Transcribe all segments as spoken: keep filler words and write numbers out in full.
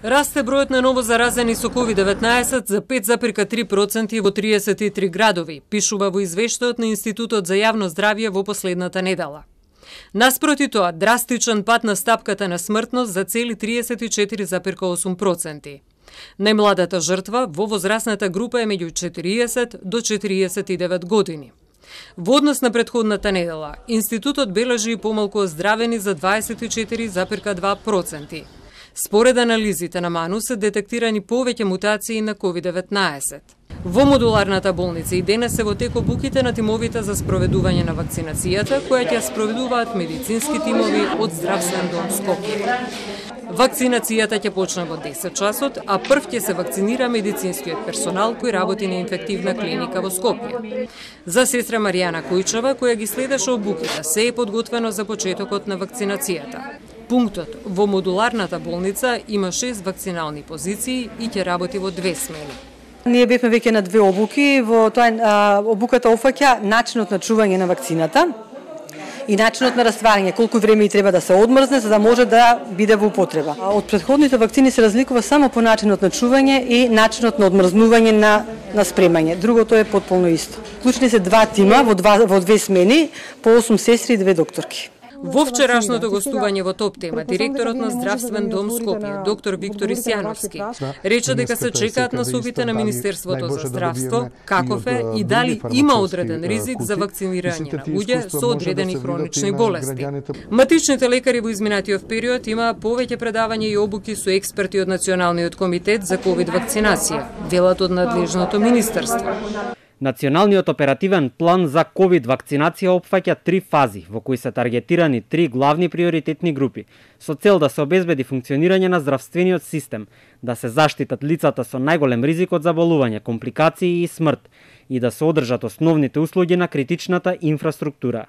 Расте бројот на ново заразени со ковид деветнаесет за пет запирка три проценти во триесет и три градови, пишува во извештајот на Институтот за јавно здравје во последната недела. Наспроти тоа, драстичен пат на стапката на смртност за цели триесет и четири запирка осум проценти. Најмладата жртва во возрастната група е меѓу четириесет до четириесет и девет години. Во однос на претходната недела, Институтот бележи и помалку оздравени за дваесет и четири запирка два проценти. Според анализите на МАНУ се детектирани повеќе мутации на ковид деветнаесет. Во модуларната болница и денес се во тек обуките на тимовите за спроведување на вакцинацијата, која ќе спроведуваат медицински тимови од Здравствен дом Скопје. Вакцинацијата ќе почне во десет часот, а прв ќе се вакцинира медицинскиот персонал кој работи на инфективна клиника во Скопје. За сестра Маријана Којчева, која ги следеше обуките, се е подготвено за почетокот на вакцинацијата. Пунктот во модуларната болница има шест вакцинални позиции и ќе работи во две смени. Ние бевме веќе на две обуки, во тоа а, обуката офаќа начинот на чување на вакцината и начинот на растварање, колку време и треба да се одмрзне за да може да биде во употреба. Од претходните вакцини се разликува само по начинот на чување и начинот на одмрзнување на на спремање. Другото е потполно исто. Вклучени се два тима во два во две смени, по осум сестри и две докторки. Во вчерашното гостување во Топ тема, директорот на Здравствен дом Скопје, доктор Виктор Исјановски, рече дека се чекаат насоките на Министерството за здравство, каков е и дали има одреден ризик за вакцинирање на луѓе со одредени хронични болести. Матичните лекари во изминатиот период има повеќе предавања и обуки со експерти од Националниот комитет за ковид вакцинација, велат од надлежното министерство. Националниот оперативен план за ковид вакцинација опфаќа три фази, во кои се таргетирани три главни приоритетни групи, со цел да се обезбеди функционирање на здравствениот систем, да се заштитат лицата со најголем ризик од заболување, компликации и смрт и да се одржат основните услуги на критичната инфраструктура.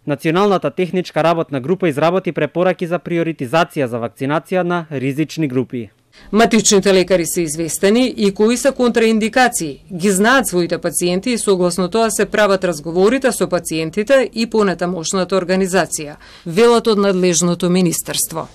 Националната техничка работна група изработи препораки за приоритизација за вакцинација на ризични групи. Матичните лекари се известени и кои се контраиндикации, ги знаат своите пациенти и согласно тоа се прават разговорите со пациентите и понатамошната организација, велат од надлежното министерство.